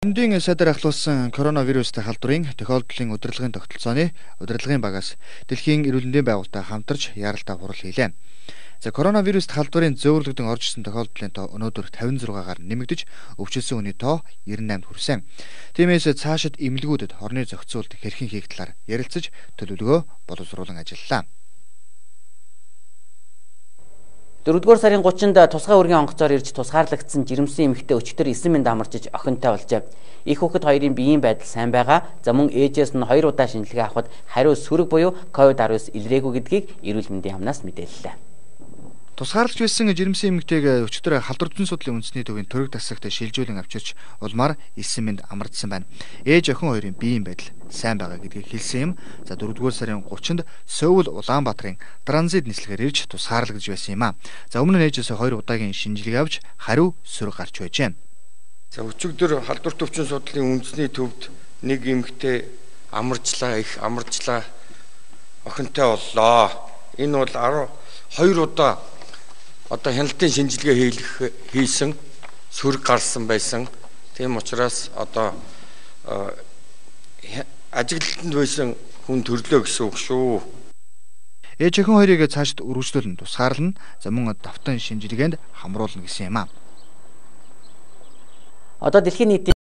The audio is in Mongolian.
Эмдийн сайдаар ахлуулсан коронавирустай халдварын тохиолдлын удирдлагын тогтолцооны удирдлагын багаас дэлхийн эрүүл мэндийн байгууллагатай хамтарч яралтай хурал хийлээ. За коронавируст халдварын зөөвөрлөгдөн орж ирсэн тохиолдлын тоо өнөөдөр 56-аар нэмэгдэж өвчлсөн хүний тоо 98-д хүрсэн. Тиймээс цаашид эмнэлгүүдэд хорны зохицуулт хэрхэн хийх талаар ярилцаж төлөвлөгөө боловсруулан ажиллалаа. 4-р сарын 30-нд тусгай үргийн онгоцоор ирж тусгаарлагдсан жирэмсэн эмэгтэй өчигдөр 9 минут амарчиж охинтой болжээ. Их хүүхэд хоёрын биеийн байдал сайн байгаа. За мөн ээжээс нь 2 удаа шинжилгээ авахад хариу сөрөг буюу COVID-19 илрээгүй гэдгийг эрүүл мэндийн хамнаас мэдээллээ. Тусгаарлаж байсан жирэмсэн эмэгтэйг өчигдөр халдвар зүйн судлалын үндэсний төвийн төрөг тасагт шилжүүлэн авчирч улмаар 9 минут амардсан байна. Ээж охин хоёрын биеийн байдал сайн байгаа гэдгийг хэлсэн юм. За 4-р сарын 30-нд Сөүл Улаанбаатарын транзит нислэгээр ирж тусгаарлагдж байсан юм а. За өмнө нь ээжээс 2 удаагийн шинжилгээ авч хариу сөрөг гарч байжээ. За өчигдөр халдвар төвчин судлалын үндэсний төвд нэг эмэгтэй амарчлаа, их амарчлаа, охинтой боллоо. Энэ бол 12 удаа одоо хяналтын шинжилгээ хийсэн, сөрөг гарсан байсан. Тийм учраас одоо ажиглалтанд байсан хүн төрлөө гэсэн үг шүү. Ээж охин хоёрыг цаашд үргэлжлүүлэн тусгаарлана. За мөн давтан шинжилгээнд хамруулна гэсэн юм а. Одоо дэлхийн нийтийн